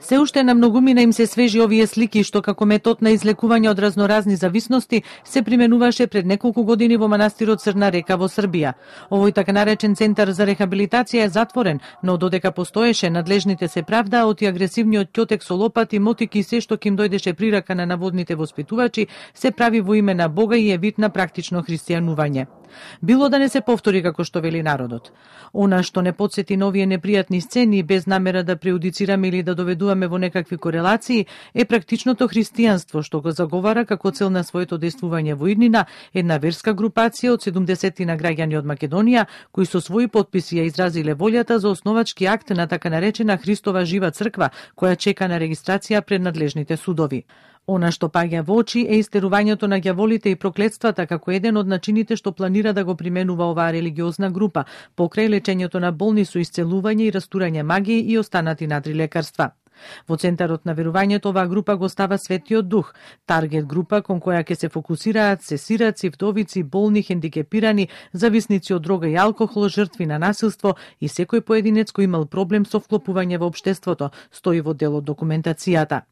Се уште на многумина им се свежи овие слики што како метод на излекување од разноразни зависности се применуваше пред неколку години во манастирот Црна река во Србија. Овој така наречен центар за рехабилитација е затворен, но додека постоеше, надлежните се правдаа од агресивниот ќотек со лопати, мотики и се што ким дојдеше прирака на наводните воспитувачи, се прави во име на Бога и е вид на практично христијанување. Било да не се повтори како што вели народот. Она што не потсети на овие непријатни сцени без намера да преудицираме или да доведуваме во некакви корелации е практичното христијанство што го заговара како цел на своето действување во иднина една верска групација од 70 граѓани од Македонија кои со своји потписи ја изразиле волјата за основачки акт на така наречена Христова жива црква која чека на регистрација пред надлежните судови. Она што паѓа во очи е истерувањето на ѓаволите и проклетствата како еден од начините што планира да го применува оваа религиозна група, покрај лечењето на болни со исцелување и растурање магија и останати надри лекарства. Во центарот на верувањето оваа група го става Светиот Дух, таргет група кон која ќе се фокусираат сесираци, вдовици, болни, хендикепирани, зависници од дрога и алкохол, жртви на насилство и секој поединец кој имал проблем со вклопување во општеството, стои во дел од документацијата.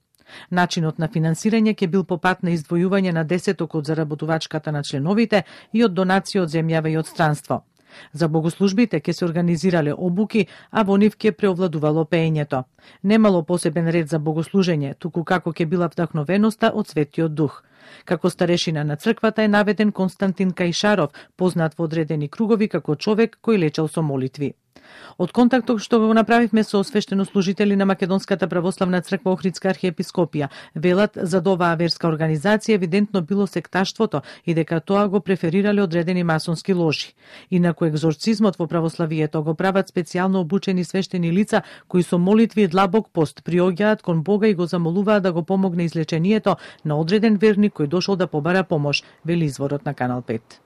Начинот на финансирање ќе бил по пат на издвојување на 10% од заработувачката на членовите и од донации од земјава и од странство. За богослужбите ќе се организирале обуки, а во нив ќе преовладувало пеењето. Немало посебен ред за богослужење, туку како ќе била вдахновеноста од Светиот Дух. Како старешина на црквата е наведен Константин Кајшаров, познат во одредени кругови како човек кој лечел со молитви. Од контактот што го направивме со свештенослужители на Македонската православна црква Охридска архиепископија, велат за оваа верска организација евидентно било секташтвото и дека тоа го преферирале одредени масонски ложи. Инаку екзорцизмот во православието го прават специјално обучени свештени лица кои со молитви и длабок пост приоѓаат кон Бога и го замолуваат да го помогне излечението на одреден верник кој дошол да побара помош, вели изворот на Канал 5.